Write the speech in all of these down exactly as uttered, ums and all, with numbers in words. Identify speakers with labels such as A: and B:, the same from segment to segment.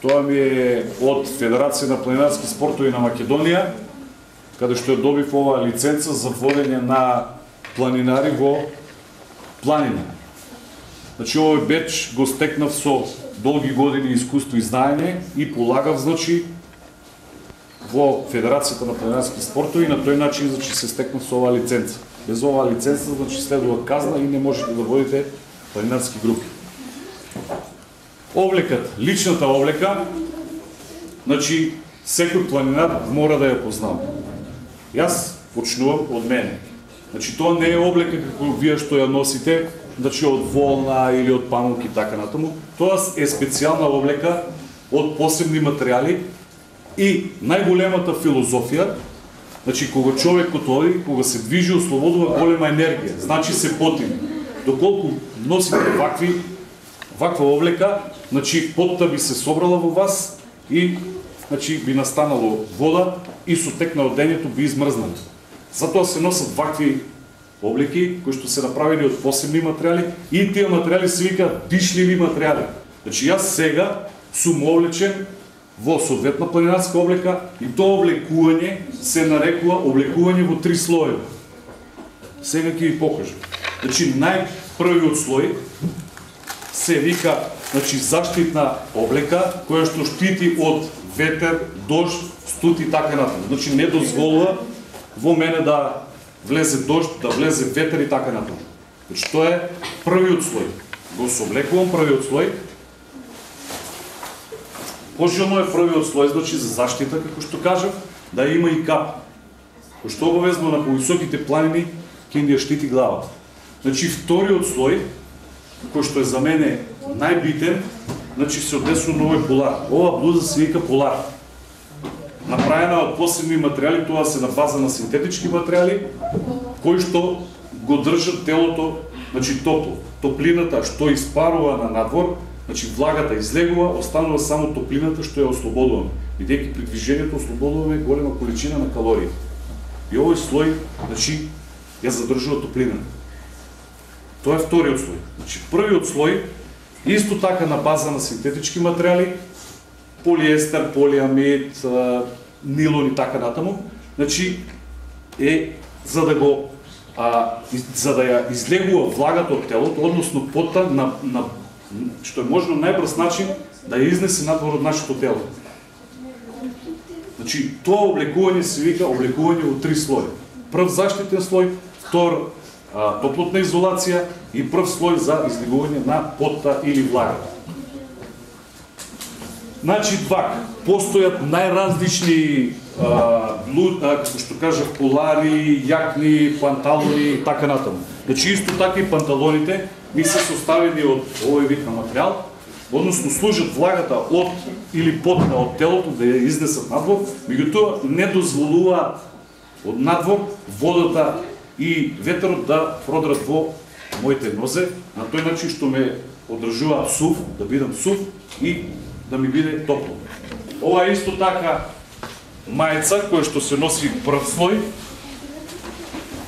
A: Тоа ми е од Федерација на планинарски спортови на Македонија, каде што ја добив оваа лиценца за водење на планинари во планина. Значи, овој беч го стекнав со долги години искуство и знаење и полагав, значи, во Федерацијата на планинарски спортови и на тој начин, значи, се стекнав со оваа лиценца. Без оваа лиценца, значи, следува казна и не можете да водите планинарски групи. Облекат, личната облека, значи, секој планинар мора да ја познава. Јас почнувам од мене. Значи, тоа не е облека како вие што ја носите, значи од волна или од памук и така натаму. Тоа е специјална облека од посебни материјали и најголемата филозофија, значи кога човекот оди, кога се движи, ослободува голема енергија, значи се потине. Доколку носите вакви ваква облека, значи потта би се собрала во вас и значи би настанало вода и со тек на одењето би измрзнало. Затоа се носат вакви облеки кои што се направени од посебни материјали и тие материјали се викаат дишливи материјали. Значи јас сега сум облечен во соодветна планинарска облека и тоа облекување се нарекува облекување во три слоеви. Сега ќе ви покажам. Значи најпрвиот слој се вика, значи, заштитна облека која што штити од ветер, дожд, студ и така натаму. Значи не дозволува во мене да влезе дожд, да влезе ветер и така натаму. Значи тоа е првиот слој. Го соблекувам првиот слој. Пожелно е првиот слој, значи за заштита, како што кажав, да има и кап. Кој што обавезно на повисоките планини ќе ни ја штити главата. Значи вториот слој, кој што е за мене најбитен, значи се одесува на овој полар. Ова блуза се вика полар. Направена од посебни материјали, тоа се на база на синтетички материјали, кои што го држат телото, значи топло. Топлината што испарува на надвор, значи влагата излегува, останува само топлината што ја ослободуваме. Бидејќи при движењето ослободуваме голема количина на калории. И овој слој, значи, ја задржува топлината. Тоа е вториот слој. Значи, првиот слој, исто така на база на синтетички материјали, полиестер, полиамид, нилон и така натаму, значи, е за да го а, за да ја излегува влагата од телото, односно потта на, на што е можно најбрз начин да ја изнесе надвор од нашето тело. Значи, тоа облекување се вика облекување во три слоја. Прв заштитен слој, втор а, топлотна изолација и прв слој за излегување на потта или влагата. Значи, вак, постојат најразлични а, блуд, а, како што кажав, полари, јакни, панталони и така натаму. Значи, исто така и панталоните ми се составени од овој вид на материјал, односно служат влагата од или потта од телото да ја изнесат надвор, меѓутоа не дозволуваат од надвор водата и ветерот да продрат во моите нозе, на тој начин што ме одржуваат сув, да бидам сув и да ми биде топло. Ова е исто така мајца која што се носи прв слој.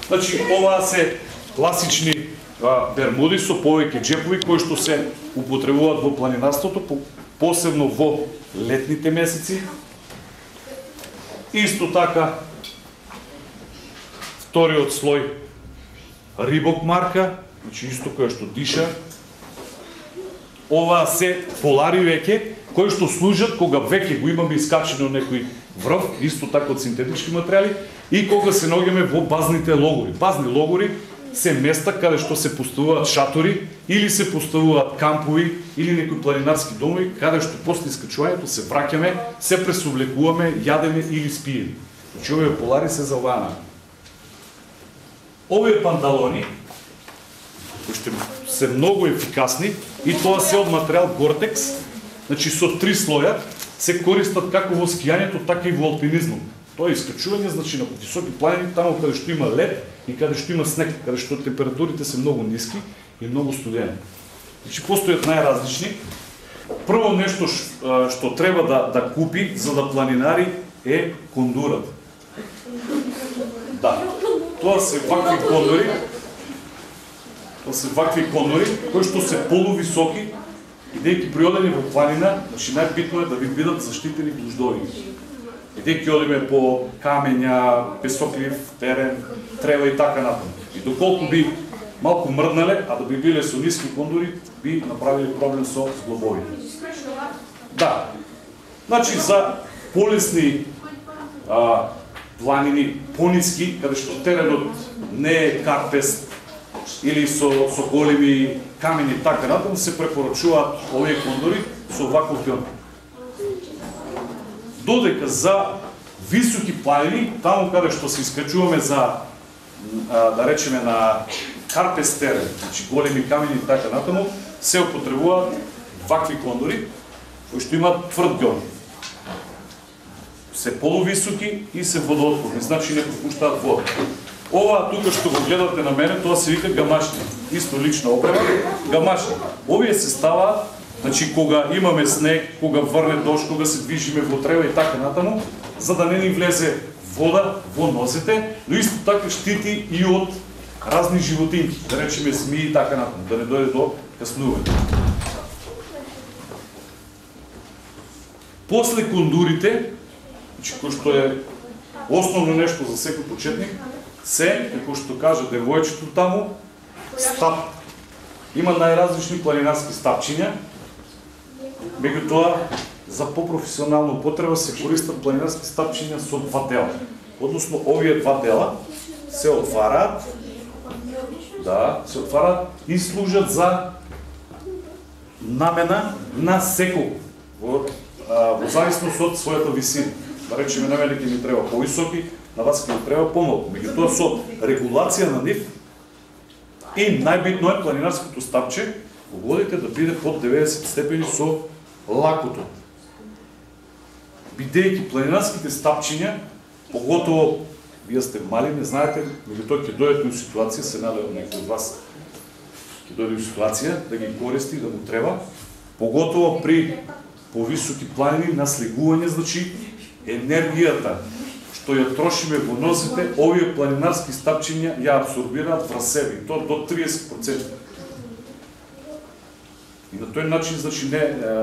A: Значи, ова се класични а, бермуди со повеќе џепови кои што се употребуваат во планинарството, посебно во летните месеци. Исто така вториот слој Рибок марка, значи исто која што диша. Ова се полари веќе, кои што служат кога веќе го имаме искачено некој врв, исто така од синтетички материјали, и кога се наоѓаме во базните логори. Базни логори се места каде што се поставуваат шатори или се поставуваат кампови или некои планинарски домови, каде што после искачувањето се враќаме, се пресоблекуваме, јадеме или спиеме. Значи овие полари се за оваа намена. Овие панталони, кои што се многу ефикасни, и тоа се од материјал Гортекс, значи со три слоја, се користат како во скијањето, така и во алпинизмот. Тоа е искачување, значи на високи планини, таму каде што има лед и каде што има снег, каде што температурите се многу ниски и многу студени. Значи постојат најразлични. Прво нешто што треба да да купи за да планинари е кондурат. Да. Тоа се вакви кондори. Тоа се вакви кондори кои што се полувисоки и бидејќи при одење во планина, значи најбитно е да ви бидат заштитени гуждови. Бидејќи одиме по камења, песоклив терен, трева и така натаму. И доколку би малку мрднале, а да би биле со ниски кондури, би направили проблем со зглобови. Да. Значи за полесни а, планини, пониски, каде што теренот не е карпест или со, со големи камени така натаму, се препорачуваат овие кондури со ваков пион. Додека за високи планини, таму каде што се искачуваме за, а, да речеме, на карпест терен, значи големи камени така натаму, се употребуваат вакви кондури, кои што имаат тврд гон. Се полувисоки и се водоотпорни, значи не пропуштаат вода. Ова тука што го гледате на мене, тоа се вика гамашни. Исто лична опрема, гамашни. Овие се ставаат, значи кога имаме снег, кога врне дожд, кога се движиме во трева и така натаму, за да не ни влезе вода во носите, но исто така штити и од разни животинки, да речеме змии и така натаму, да не дојде до каснување. После кондурите, значи кој што е основно нешто за секој почетник, се, како што кажа девојчето таму, стап. Има најразлични планинарски стапчиња, меѓутоа за попрофесионална употреба се користат планинарски стапчиња со два дела. Односно овие два дела се отвараат, да, се отвараат и служат за намена на секој во, во зависност од својата висина. Да речеме, на мене ќе ми треба повисоки, на вас ќе ми треба помалку. Меѓутоа со регулација на нив и најбитно е планинарското стапче во водите да биде под деветдесет степени со лакото. Бидејќи планинарските стапчиња, поготово вие сте мали, не знаете, меѓутоа ќе дојдете во ситуација, се надевам некој од вас ќе дојде во ситуација да ги користи, да му треба, поготово при повисоки планини на слегување, значи енергијата што ја трошиме во носите, овие планинарски стапчиња ја абсорбираат врз себе, и то до триесет проценти. И на тој начин, значи, не,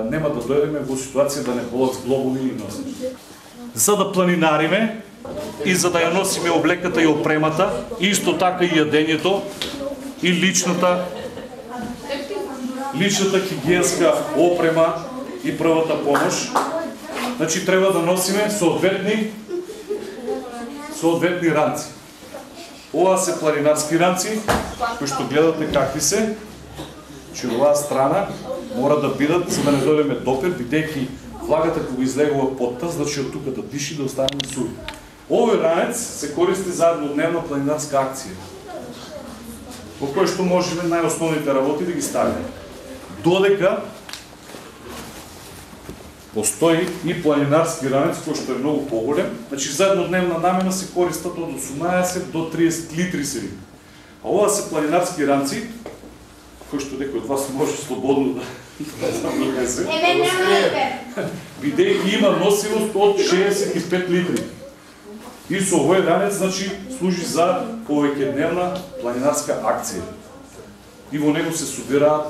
A: нема да дојдеме во ситуација да не болат зглобови и носичи. За да планинариме и за да ја носиме облеката и опремата, исто така и јадењето и личната личната хигиенска опрема и првата помош, значи треба да носиме соодветни соодветни ранци. Ова се планинарски ранци, кои што гледате какви се, че оваа страна мора да бидат, за да не дојдеме допир, бидејќи влагата кога излегува под таз, значи од тука да диши, да останеме суви. Овој ранец се користи за еднодневна планинарска акција, во кој што можеме најосновните работи да ги ставиме. Додека постои и планинарски ранец кој што е многу поголем, значи за еднодневна намена се користат од осумнаесет до триесет литри се вика. А ова се планинарски ранци, кој што некој од вас може слободно да не се. Бидејќи има носивост од шеесет и пет литри. И со овој ранец, значи, служи за повеќедневна планинарска акција. И во него се собираат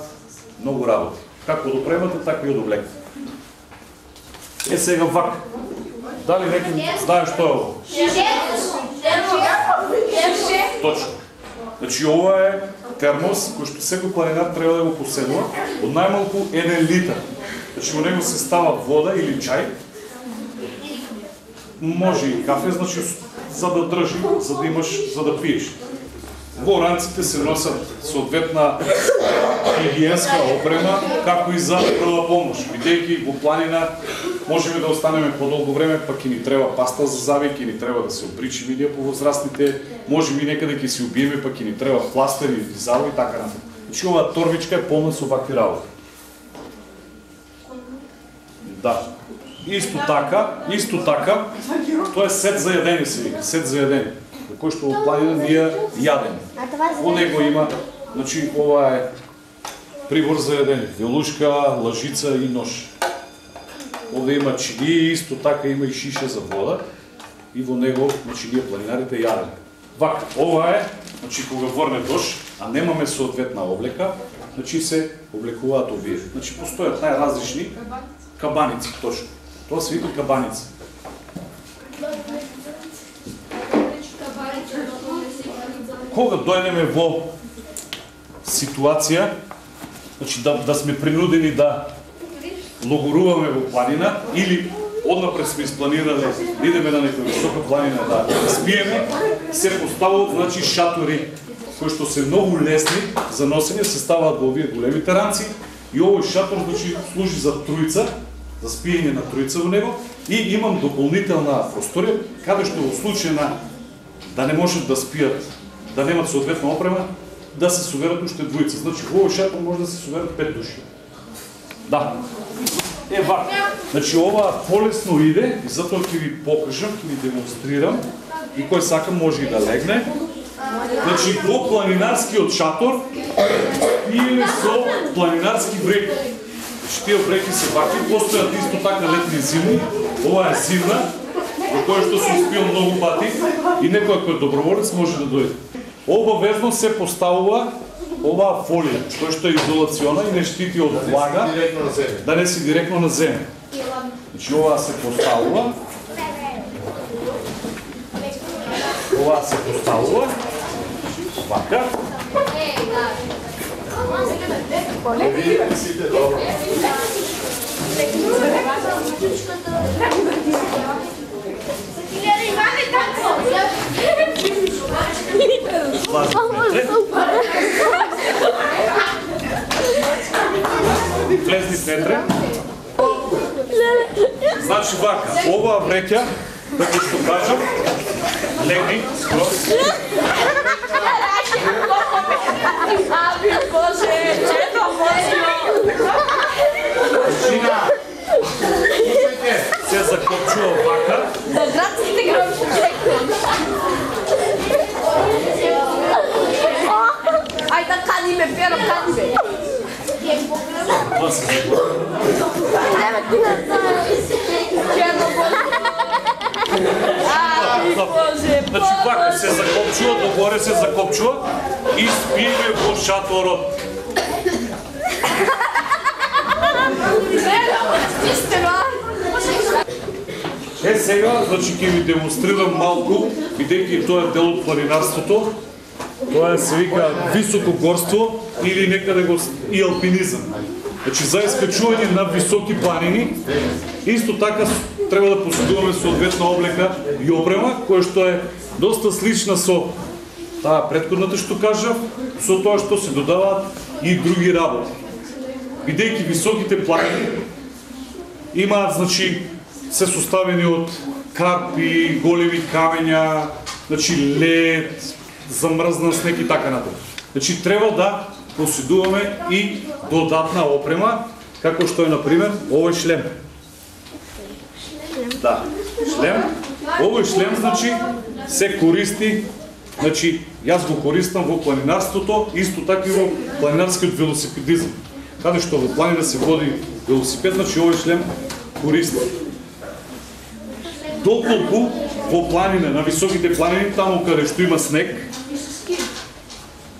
A: многу работи, како од опремата, така и од облеката. Е сега вак. Дали некој знае што е ово? Точно. Значи ова е термос кој што секој планинар треба да го поседува од најмалку еден литар. Значи во него се става вода или чај. Може и кафе, значи за да држи, за да имаш, за да пиеш. Во ранците се носат соодветна хигиенска опрема, како и за прва помош. Бидејќи во планина можеме да останеме подолго време, пак ќе ни треба паста за зави, ќе ни треба да се опричиме ние повозрастните, можеме и некаде ќе се убиеме, пак ќе ни треба пластер или дизало и така натаму. Значи оваа торбичка е полна со вакви работи. Да. Исто така, исто така, тоа е сет за јадење се вика, сет за јадење. Кој што во планина ние јадеме. Во него има, значи ова е прибор за јадење, вилушка, лажица и нож. Овде има чили, исто така има и шиша за вода и во него, значи ние планинарите јадеме. Вака, ова е, значи кога врне дожд, а немаме соодветна облека, значи се облекуваат овие. Значи постојат најразлични кабаници, точно. Тоа се вика кабаница. Кога дојдеме во ситуација, значи да, да сме принудени да логоруваме во планина или однапред сме испланирали да идеме на некоја висока планина да спиеме, се поставуваат значи шатори кои што се многу лесни за носење, се ставаат во овие големите ранци и овој шатор значи служи за тројца, за спиење на тројца во него и имам дополнителна просторија каде што во случај на да не можат да спијат, да немат соодветна опрема, да се соберат уште двојца. Значи во овој шатор може да се соберат пет души. Да. Е, вака. Значи, ова полесно иде и затоа ќе ви покажам, ќе ви демонстрирам и кој сака може и да легне. Значи, во планинарскиот шатор пиеме со планинарски бреки. Значи, тие бреки се вакви, постојат исто така летни и зимни. Ова е зимна, во која што се испил многу пати и некој кој е доброволец може да дојде. Обавезно се поставува оваа фолија, која што е изолациона и не штити од влага, да не си директно на земја. Значи оваа се поставува. Оваа се поставува. Вака. Влезни снетре. Значи вака, оваа вреќа, како што кажам, легни, скрос. Чина, се закопчува вака.
B: Ајде, кади ме, Перо, кади ме.
A: Тоа се закопчува. Значи вака се закопчува, догоре се закопчува и спиеме во шаторот. Е, сега, значи ќе ви демонстрирам малку, бидејќи тоа е дел од планинарството. Тоа е се вика високогорство или некаде го и алпинизам. Значи за искачување на високи планини, исто така треба да поседуваме соодветна облека и опрема, која што е доста слична со таа претходната што кажав, со тоа што се додаваат и други работи. Бидејќи високите планини имаат, значи, се составени од карпи, големи камења, значи лед, замрзнан снег и така натаму. Значи треба да поседуваме и додатна опрема, како што е на пример овој шлем. Да, шлем. Овој шлем значи се користи, значи јас го користам во планинарството, исто така и во планинарскиот велосипедизам. Каде што во планина се води велосипед, значи овој шлем користи. Доколку во планина, на високите планини, таму каде што има снег,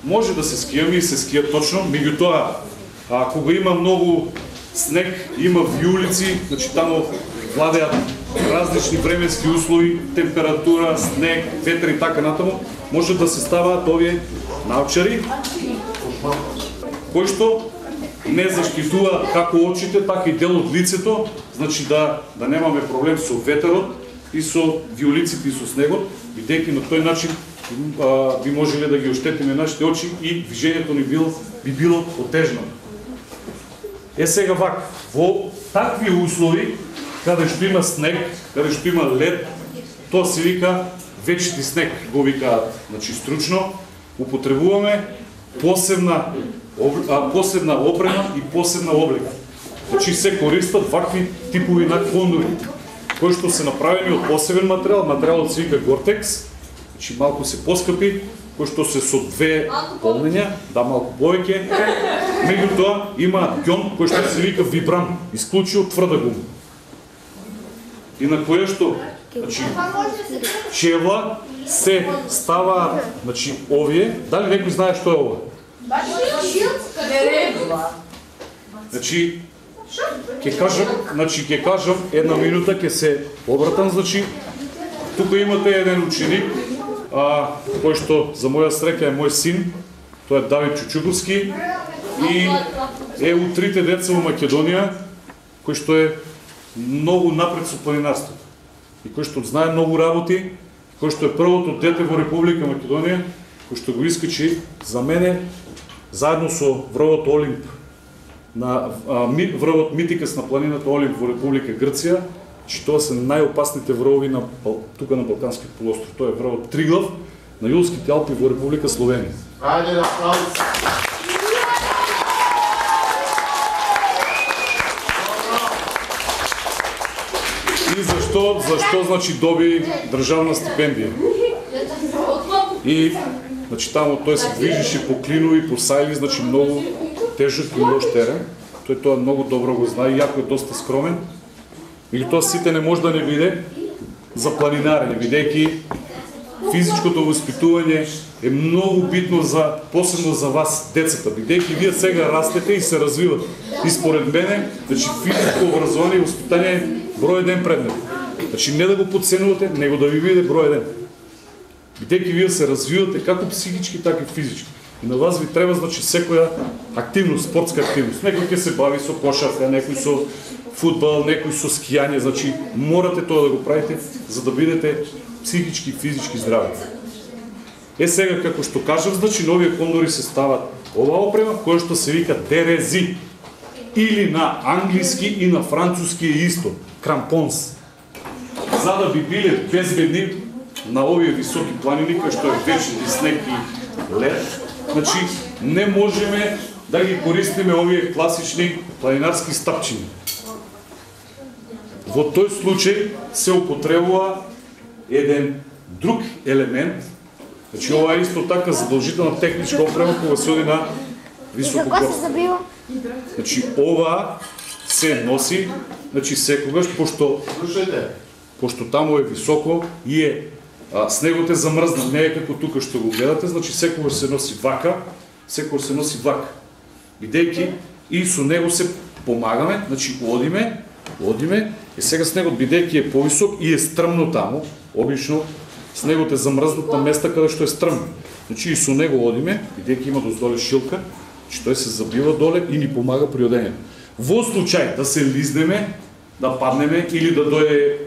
A: може да се скијаме и се скијат точно, меѓутоа, а кога има многу снег, има виулици, значи таму владеат различни временски услови, температура, снег, ветер и така натаму, може да се ставаат овие научари, кои што не заштитуваат како очите, така и дел од лицето, значи да да немаме проблем со ветерот и со виулиците и со снегот, бидејќи на тој начин а, би можеле да ги оштетиме нашите очи и движењето ни било, би било отежнато. Е сега вака, во такви услови, каде што има снег, каде што има лед, тоа се вика вечити снег, го викаат, значи стручно, употребуваме посебна а, посебна опрема и посебна облека. Значи се користат вакви типови на кондури, кои што се направени од посебен материјал, материјалот се вика Гортекс, значи малку се поскапи, кои што се со две полнења, да малку повеќе, меѓутоа има ѓон кој што се вика Вибран, исклучио тврда гума. И на која што, значи, чевла се ставаат, значи, овие, дали некој знае што е ова? Значи, ќе кажам, значи ќе кажам една минута, ќе се обратам, значи тука имате еден ученик, а, кој што за моја среќа е мој син, тоа е Давид Чучуковски и е у трите деца во Македонија, кој што е многу напред со планинарството и кој што знае многу работи, кој што е првото дете во Република Македонија, кој што го искачи за мене заедно со врвот Олимп на а, ми, врвот Митикас на планината Олимп во Република Грција, че тоа се најопасните врвови на тука на Балканскиот полуостров. Тоа е врвот Триглав на Јулските Алпи во Република Словенија.
C: Ајде да аплауз.
A: И зашто, зашто значи доби државна стипендија? И значи таму тој се движеше по клинови, по сајли, значи многу тежок и лош терен. Тој тоа многу добро го знае, иако е доста скромен. Или тоа сите не може да не биде за планинарење, бидејќи физичкото воспитување е многу битно за посебно за вас децата, бидејќи вие сега растете и се развивате. И според мене, значи физичко образование и воспитање е број еден предмет. Значи не да го подценувате, него да ви биде број еден. Бидејќи вие се развивате како психички, така и физички. И на вас ви треба значи секоја активност, спортска активност. Некој ќе се бави со кошарка, некој со фудбал, некој со скијање, значи морате тоа да го правите за да бидете психички и физички здрави. Е сега како што кажав, значи новија кондори се стават ова опрема која што се вика дерези или на англиски и на француски е исто, крампонс. За да би биле безбедни на овие високи планини кои што е вечни снег и лед, значи не можеме да ги користиме овие класични планинарски стапчини. Во тој случај се употребува еден друг елемент, значи ова е исто така задолжителна техничка опрема кога се оди на високогорство. Значи ова се носи, значи секогаш, пошто пошто таму е високо и е а, снегот е замрзнат, не е како тука што го гледате, значи секогаш се носи вака, секогаш се носи вака. Бидејќи и со него се помагаме, значи одиме, одиме, и сега снегот бидејќи е повисок и е стрмно таму, обично снегот е замрзнат на места каде што е стрмно. Значи и со него одиме, бидејќи има доздоле шилка, че тој се забива доле и ни помага при одењето. Во случај да се лизнеме, да паднеме или да дојде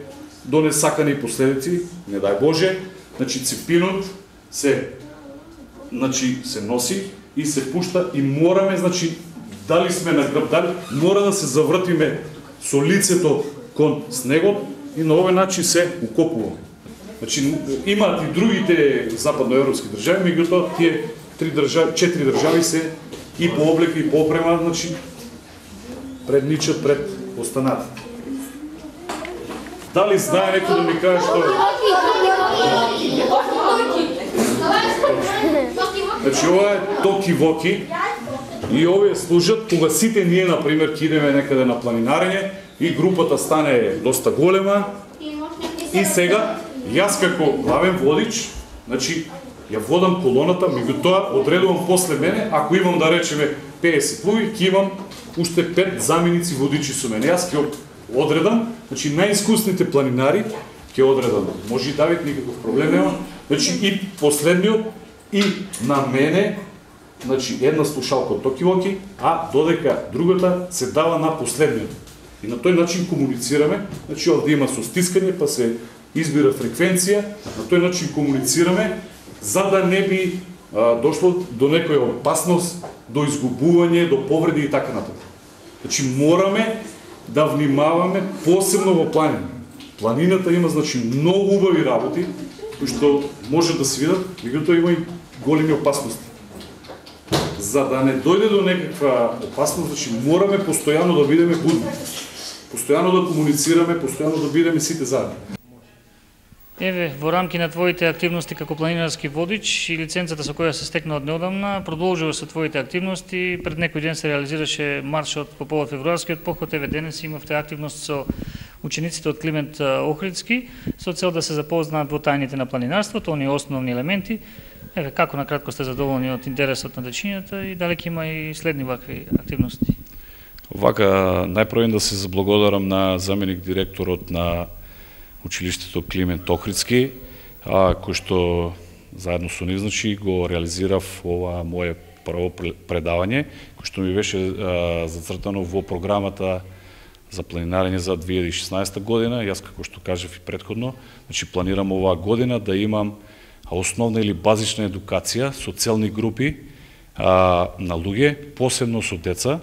A: до несакани последици, не дај Боже, значи ципинот се значи се носи и се пушта и мораме, значи дали сме на грб, дали мора да се завртиме со лицето кон снегот и на овој начин се укопуваме. Значи имаат и другите западноевропски држави, меѓутоа тие три држави, четири држави се и по облека и по опрема, значи предничат пред останатите. Дали знае некој да ми каже што е? Значи ова е токи-воки и овие служат кога сите ние, например, ќе идеме некаде на планинарење и групата стане доста голема и сега јас како главен водич, значи ја водам колоната, меѓутоа одредувам после мене, ако имам да речеме педесет луѓе, ќе имам уште пет заменици водичи со мене. Јас ќе одредам, значи најискусните планинари ќе одредам. Може и Давид, никаков проблем нема. Значи и последниот и на мене, значи една слушалка од токи-воки, а додека другата се дава на последниот. И на тој начин комуницираме, значи овде има со стискање, па се избира фреквенција, на тој начин комуницираме, за да не би а, дошло до некоја опасност, до изгубување, до повреди и така натаму. Значи мораме да внимаваме посебно во планина. Планината има значи многу убави работи кои што може да се видат, меѓутоа има и големи опасности. За да не дојде до некаква опасност, значи мораме постојано да бидеме будни. Постојано да комуницираме, постојано да бидеме сите заедно.
D: Еве, во рамки на твоите активности како планинарски водич и лиценцата со која се стекна од неодамна, продолжува со твоите активности. Пред некој ден се реализираше маршот по повод февруарскиот поход. Еве денес имавте активност со учениците од Климент Охридски со цел да се запознаат во тајните на планинарството, оние основни елементи. Еве, како накратко сте задоволни од интересот на дечињата и дали ќе има и следни вакви активности?
A: Вака, најпрво да се заблагодарам на заменик директорот на училиштето Климент Охридски, а, кој што заедно со нив, значи, го реализирав ова мое прво предавање, кој што ми беше а, зацртано во програмата за планинарење за две илјади и шеснаесета година. Јас, како што кажав и претходно, значи, планирам оваа година да имам основна или базична едукација со целни групи а, на луѓе, посебно со деца,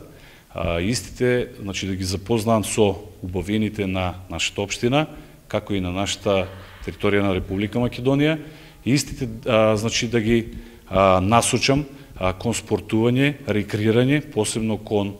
A: а, истите, значи, да ги запознаам со убавините на нашата општина, како и на нашата територија на Република Македонија, и истите, а, значи, да ги а, насочам а, кон спортување, рекреирање, посебно кон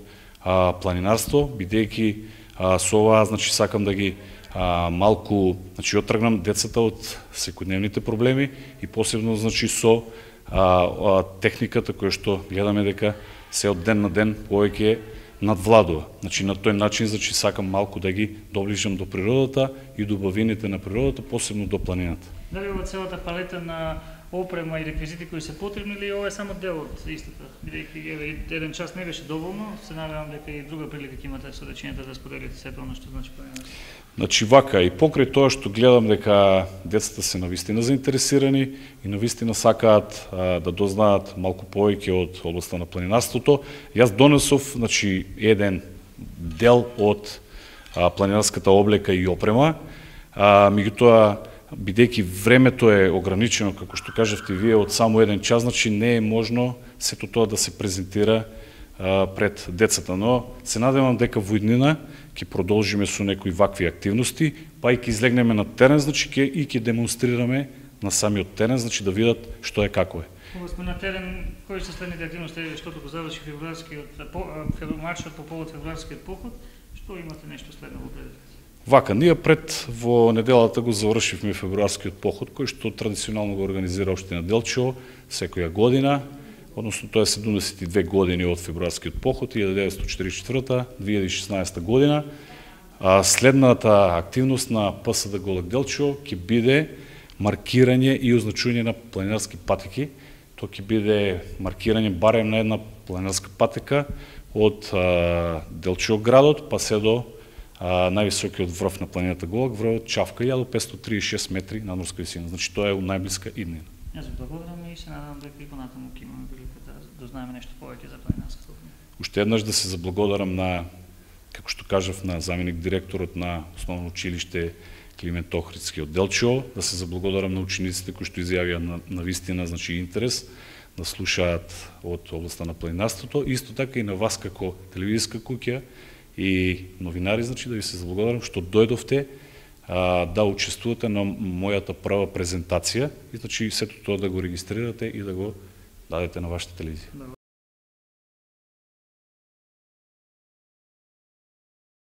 A: а, планинарство, бидејќи а, со ова, значи, сакам да ги а, малку, значи, оттргнам децата од секојдневните проблеми и посебно, значи, со а, а, техниката која што гледаме дека се од ден на ден повеќе надвладува. Значи, на тој начин, значи, сакам малку да ги доближам до природата и до убавините на природата, посебно до планината.
D: Дали ова целата палета на опрема и реквизити кои се потребни, или ова е само дел од истата? Бидејќи еве еден час не беше доволно, се надевам дека и друга прилика ќе имате со дечињата да споделите сето она што значи планинарство.
A: Значи, вака, и покрај тоа што гледам дека децата се навистина заинтересирани и навистина сакаат а, да дознаат малку повеќе од областта на планинарството, јас донесов, значи, еден дел од а, планинарската облека и опрема, а, меѓутоа, бидејќи времето е ограничено, како што кажавте вие, од само еден час, значи не е можно сето тоа да се презентира а, пред децата, но се надевам дека во иднина ќе продолжиме со некои вакви активности, па и ќе излегнеме на терен, значи ќе и ќе демонстрираме на самиот терен, значи да видат што е како е.
D: Кога сме на терен, кои се следните активности, што го заврши февруарскиот маршот по повод февруарскиот поход, што имате нешто следно во предвид?
A: Вака, ние пред во неделата го завршивме февруарскиот поход, кој што традиционално го организира општина Делчево секоја година, односно тоа е седумдесет и две години од февруарскиот поход, илјада деветстотини четиридесет и четврта - две илјади и шеснаесета година. А следната активност на ПСД Голек Делчево ќе биде маркирање и означување на планинарски патеки. Тоа ќе биде маркирање барем на една планинарска патека од а, Делчево градот, па се до а, највисокиот врв на планината Голек, врвот Чавка, илјада петстотини триесет и шест метри надморска висина. Значи тоа е најблиска иднина.
D: Јас ви благодарам и се надевам дека и понатаму ќе имаме прилика да дознаеме нешто повеќе за планинарската опрема.
A: Уште еднаш да се заблагодарам на, како што кажав, на заменик директорот на основно училиште Климент Охридски од Делчево, да се заблагодарам на учениците кои што изјавија на, на вистина, значи, интерес да слушаат од областта на планинарството, исто така и на вас како телевизиска куќа и новинари, значи, да ви се заблагодарам што дојдовте а, да учествувате на мојата прва презентација и, значи, сето тоа да го регистрирате и да го дадете на вашата телевизија.